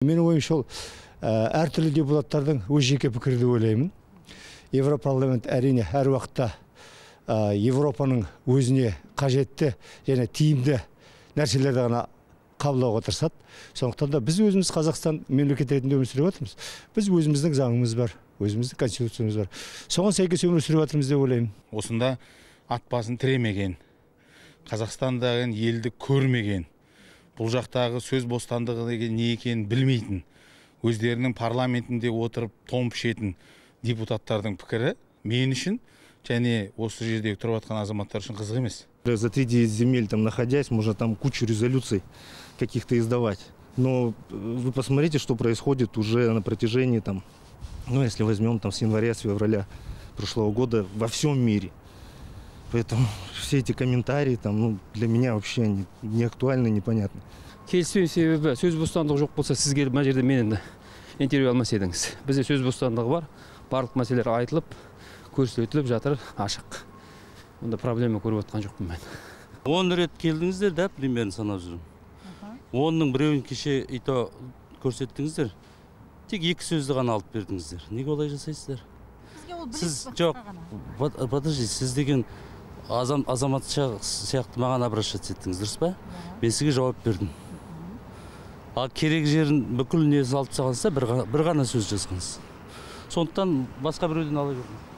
Менин оюмча ошол ар түрлүү депутаттардын өз жеке пикири деп ойлоймун. Европарламент әрине ар убакта Европанын өзүнө кажетти жана тийимдүү нерселерди гана кабылдауга тырышат. Сондуктан да биз өзүбүз Казакстан мемлекети ретинде өмүр сүрүп атабыз. Биз өзүбүздүн заңыбыз бар, өзүбүздүн конституциябыз бар. Соңго сейкес өмүр сүрүп атабыз деп ойлойм. Осында ат басын тиремеген, Казакстандагы элди көрмеген, бул жактагы сөз бостандыгы деген не экенин билмейтин, өздеринин парламентинде отуруп том пишетін депутаттардын пикири мен үчүн және осы жердегі туруп аткан азаматтар үчүн кызык эмес. За 3 земель там находясь, можно там кучу резолюций каких-то издавать. Но вы посмотрите, что происходит уже на протяжении там, ну если возьмем там с января, с февраля прошлого года во всем мире. Поэтому все эти комментарии там, ну, для меня вообще не актуальны, непонятны. Келіспеу себебі сөз бостандығы жоқ болса, сіз келіп мына жерде менен интервью алмас едіңіз. Бізде сөз бостандығы бар, барлық мәселелер айтылып, көрсөтүлүп жатыр, ашық. Онда проблема көрүп аткан жокмун мен. 10 рет келдиңиздер да, примерно санап жүрүм. 10-ның біреуін кеше ито көрсеттіңіздер. Тек 2 сөзді ғана алып бердіңіздер. Неге олай жасайсыздар? Сіз жоқ. Подожди, сіз деген азаматша сияқты маған обращаться еттіңіз, дұрыс па? Мен сізге жауап бердім. Ал керек жерін бүкіл несін алып тастағансызда бір ғана сөз жазғансыз. Сондықтан басқа біреуден ала бердім.